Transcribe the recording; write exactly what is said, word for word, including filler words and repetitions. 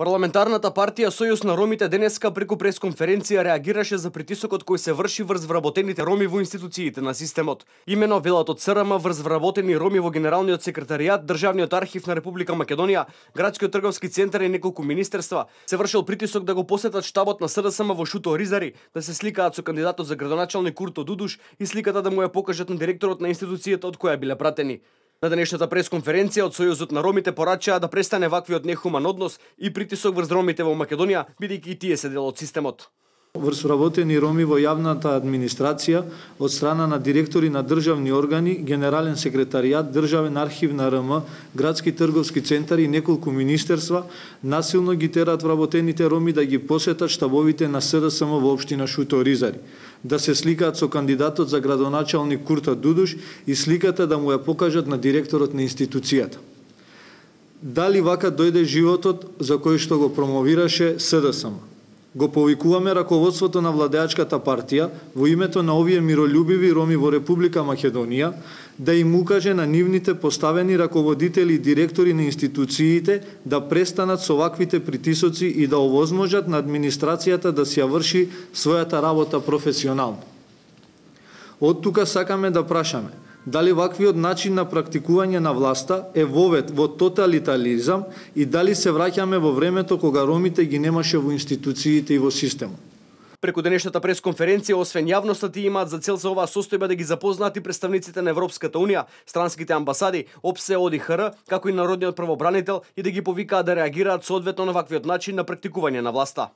Парламентарната партија Сојуз на ромите денеска преку пресконференција реагираше за притисокот кој се врши врз вработените роми во институциите на системот. Имено велат од ЦРМ врз вработени роми во Генералниот секретаријат, Државниот архив на Република Македонија, Градскиот трговски центар и неколку министерства се вршил притисок да го посетат штабот на СДСМ во Шуто Оризари, да се сликаат со кандидатот за градоначалник Курто Дудуш и сликата да му ја покажат на директорот на институцијата од која биле пратени. На денешната пресконференција од Сојузот на ромите порачаа да престане ваквиот нехуман однос и притисок врз ромите во Македонија, бидејќи и тие се дел од системот. Врз вработени роми во јавната администрација од страна на директори на државни органи, Генерален секретаријат, Државен архив на РМ, Градски трговски центар и неколку министерства насилно ги терат вработените роми да ги посетат штабовите на СДСМ во општина Шуто Оризари, да се сликаат со кандидатот за градоначалник Курто Дудуш и сликата да му ја покажат на директорот на институцијата. Дали вака дојде животот за кој што го промовираше СДСМ? Го повикуваме раководството на владеачката партија во името на овие миролюбиви роми во Република Македонија да им укаже на нивните поставени раководители и директори на институциите да престанат со ваквите притисоци и да овозможат на администрацијата да си ја врши својата работа професионално. Од тука сакаме да прашаме дали ваквиот начин на практикување на власта е вовет во тоталитаризам и дали се враќаме во времето кога ромите ги немаше во институциите и во системот. Преку денешната пресконференција, освен јавноста, имаат за цел за оваа состојба да ги запознаат и представниците на Европската унија, странските амбасади, ОПСЕ, ОДИХР, како и народниот правобранител и да ги повикаат да реагираат соодветно на ваквиот начин на практикување на власта.